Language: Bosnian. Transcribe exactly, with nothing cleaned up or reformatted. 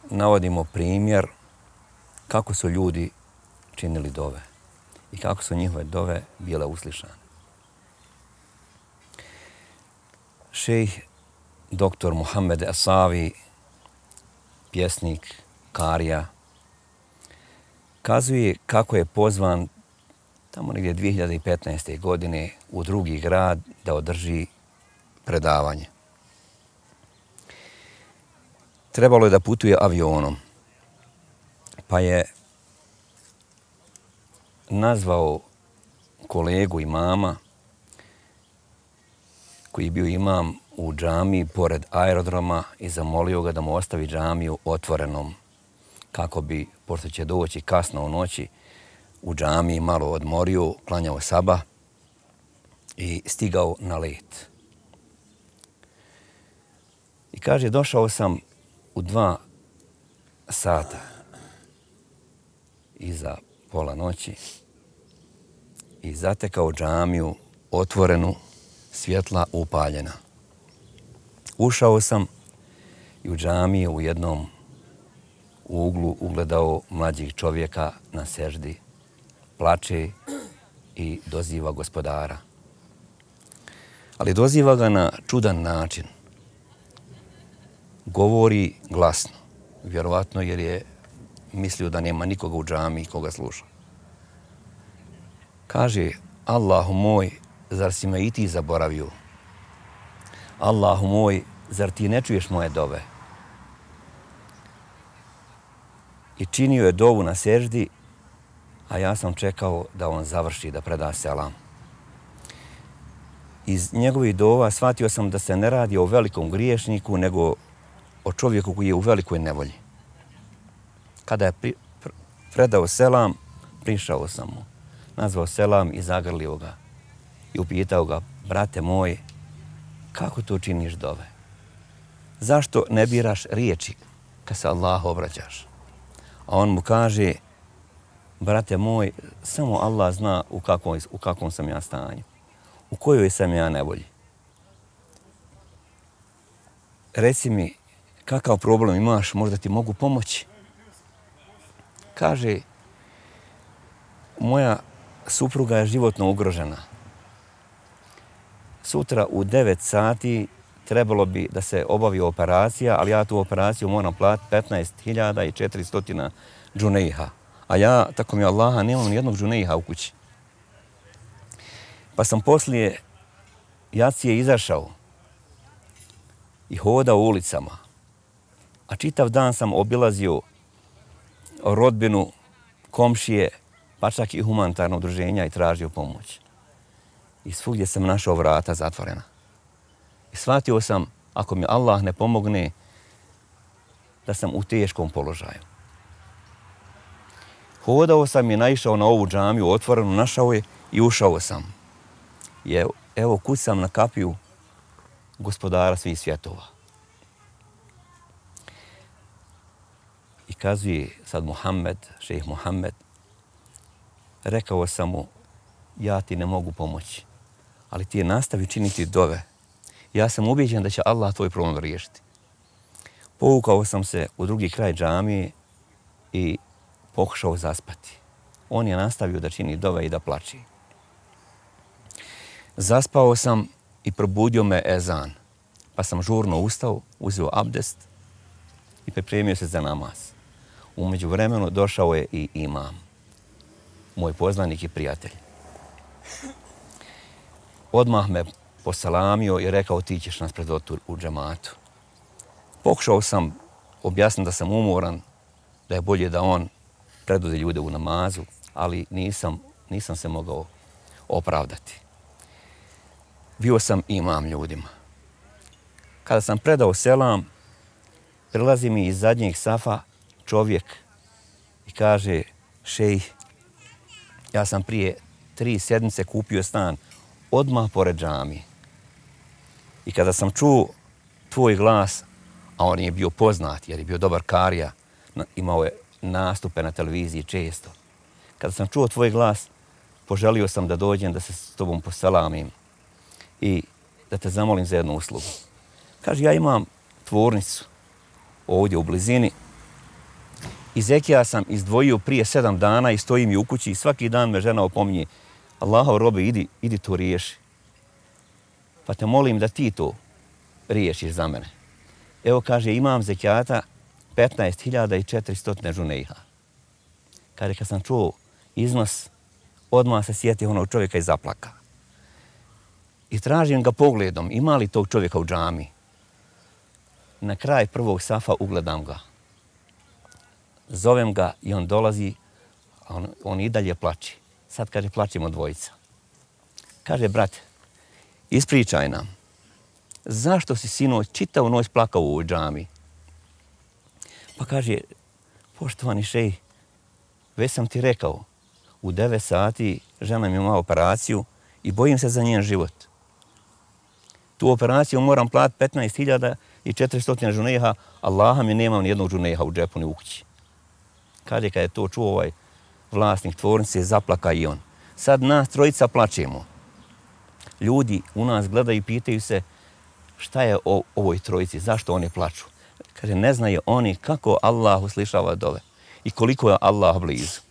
navodimo primjer kako su ljudi činili dove i kako su njihove dove bile uslišane. Šejh doktor Muhammed Asavi, pjesnik, karija, kazuje kako je pozvan tamo negdje dvije hiljade petnaeste. godine u drugi grad da održi predavanje. Trebalo je da putuje avionom, pa je nazvao kolegu imama koji je bio imam u džamiji pored aerodroma i zamolio ga da mu ostavi džamiju otvorenom kako bi, pošto će doći kasno u noći, u džamiji malo odmorio, klanjao sabah i stigao na let. I kaže, došao sam u dva sata iza pola noći i zatekao džamiju otvorenu, svjetla upaljena. Ušao sam i u džamiji u jednom uglu ugledao mlađih čovjeka na seždi, plače i doziva gospodara. Ali doziva ga na čudan način. Govori glasno, vjerovatno jer je mislio da nema nikoga u džamiji koga sluša. Kaže, Allahu moj, zar si me i ti zaboravio? Allahu moj, zar ti ne čuješ moje dove? I činio je dovu na seždi, a ja sam čekao da on završi, da preda selam. Iz njegovih dova shvatio sam da se ne radi o velikom griješniku, nego o čovjeku koji je u velikoj nevolji. Kada je pri, pr, predao selam, prišao sam mu, nazvao selam i zagrlio ga. I upitao ga, brate moj, kako to činiš dove? Zašto ne biraš riječi kad se Allahu obraćaš? A on mu kaže, brate moj, samo Allah zna u kakvom, u kakvom sam ja stanju, u kojoj sam ja nevolji. Reci mi, kakav problem imaš, možda ti mogu pomoći? Kaže, moja supruga je životno ugrožena. Sutra u devet sati trebalo bi da se obavi operacija, ali ja tu operaciju moram platiti petnaest hiljada četiristo džunejha. A ja, tako mi Allaha, nemam nijednog džunejha u kući. Pa sam poslije jacije izašao i hodao ulicama. A čitav dan sam obilazio rodbinu, komšije, pa čak i humanitarno udruženja i tražio pomoć. I svugdje sam našao vrata zatvorena. I shvatio sam, ako mi Allah ne pomogne, da sam u teškom položaju. Hodao sam i naišao na ovu džamiju, otvorenu, našao je i ušao sam. I evo, evo kucam na kapiju gospodara svih svjetova. I kazuje sad Muhammed, šejh Muhammed, rekao sam mu, ja ti ne mogu pomoći, ali ti je nastavi činiti dove. Ja sam ubijeđen da će Allah tvoj problem riješiti. Povukao sam se u drugi kraj džamije i pokušao zaspati. On je nastavio da čini dove i da plači. Zaspao sam i probudio me ezan, pa sam žurno ustao, uzeo abdest i pripremio se za namaz. U međuvremenu došao je i imam, moj poznanik i prijatelj. Odmah me poselamio i rekao, ti ćeš nas predvoditi u džematu. Pokušao sam objasniti da sam umoran, da je bolje da on predvodi ljude u namazu, ali nisam, nisam se mogao opravdati. Bio sam imam ljudima. Kada sam predao selam, prilazi mi iz zadnjeg safa čovjek i kaže, šejh, ja sam prije tri sedmice kupio stan odmah pored džamije. I kada sam čuo tvoj glas, a on je bio poznat jer je bio dobar karija, imao je nastupe na televiziji često. Kada sam čuo tvoj glas, poželio sam da dođem da se s tobom poselamim i da te zamolim za jednu uslugu. Kaže, ja imam tvornicu ovdje u blizini I zekija sam izdvojio prije sedam dana i stoji mi u kući i svaki dan me žena opominje: Allahov robe, idi, idi to riješi. Pa te molim da ti to riješiš za mene. Evo, kaže, imam zekijata petnaest hiljada četiristo žunejha. Kaže, kad sam čuo iznos, odmah se sjetio onog čovjeka i zaplaka. I tražim ga pogledom, ima li tog čovjeka u džami. Na kraj prvog safa ugledam ga. Zovem ga i on dolazi, a on, on i dalje plači. Sad, kaže, plačimo dvojica. Kaže, brate, ispričaj nam, zašto si sinoć čitavu noć plakao u ovoj džami? Pa kaže, poštovani šejh, već sam ti rekao, u devet sati žena mi ima operaciju i bojim se za njen život. Tu operaciju moram platiti petnaest hiljada četiristo žunejha, Allaha mi nemam ni jednog žunejha u džepu ni u kući. Kaže, kad je to čuo ovaj vlasnik tvornice, zaplaka i on. Sad nas trojica plačemo. Ljudi u nas gledaju i pitaju se šta je o ovoj trojici, zašto oni plaču. Kaže, ne znaju oni kako Allah uslišava dove i koliko je Allah blizu.